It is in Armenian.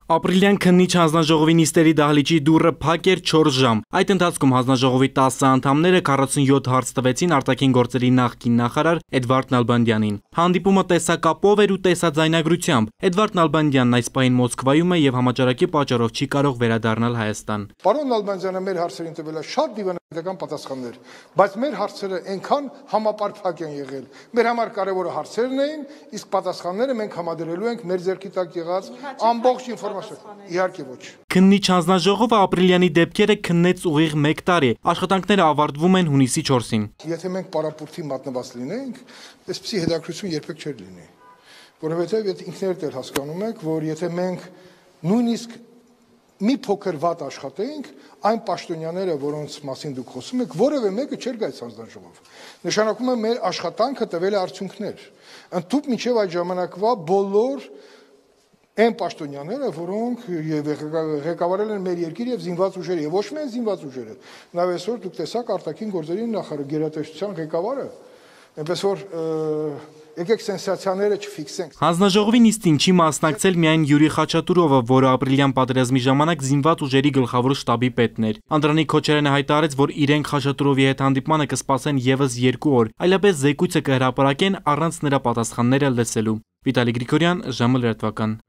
Ապրիլյան քննիչ հանձնաժողովի նիստերի դահլիճի դուռը փակ էր 4 ժամ։ Այդ ընթացքում հանձնաժողովի 10 անդամները 47 հարց տվեցին արտաքին գործերի նախկին նախարար Էդվարդ Նալբանդյանին։ Հանդիպումը տեսակապով էր ու տեսաձայնագրությամբ։ Էդվարդ Նալբանդյանն այս պահին Մոսկվայում է եւ համաճարակի պատճառով չի կարող վերադառնալ Հայաստան։ Պարոն Նալբանդյանը մեր հարցերին տվել է շատ դիվանագիտական պատասխաններ, բայց մեր հարցերը այնքան համապարփակ են եղել։ Մեր համար կարևորը հարցերն էին, իսկ պատասխանները մենք համադրելու ենք մեր ձեռքի տակ եղած ամբողջ Իհարկե ոչ։ Քննիչ հանձնաժողովը ապրիլյանի դեպքերը քննեց ուղիղ 1 տարի։ Աշխատանքները ավարտվում են հունիսի 4-ին։ Եթե մենք պարապուրտի մատնված լինենք, այսպիսի հետաքրքրություն երբեք չէր լինի։ Որովհետև ինքներդ էլ հասկանում եք, որ եթե մենք նույնիսկ մի փոքր վատ աշխատեինք, այն պաշտոնյաները, որոնց մասին դուք խոսում եք, որևէ մեկը չէր գայց հանձնաժողով։ Նշանակում է մեր աշխատանքը տվել է արդյունքներ։ Ընդհանուր մինչև այդ ժամանակվա բոլոր այն պաշտոնյաները, որոնք ղեկավարել են մեր երկիր եւ զինված ուժերը, եւ ոչ միայն զինված ուժերը, նաեւ այսօր դուք տեսաք արտաքին գործերի նախարար գերատեսչության ղեկավարը, այնպես որ եկեք սենսացիաները չֆիքսենք։ Հանձնաժողովի նիստին չի մասնակցել միայն Յուրի Խաչատուրովը, որը ապրիլյան պատերազմի ժամանակ զինված ուժերի գլխավոր շտաբի պետն էր։ Անդրանիկ Քոչարյանը հայտարարեց, որ իրենք Խաչատուրովի հետ հանդիպմանը կսպասեն եւս 2 օր, այլապես զեկույցը կհրապարակեն առանց նրա պատասխանները լսելու։ Վիտալի Գրիգորյան, ժամը լրատվական։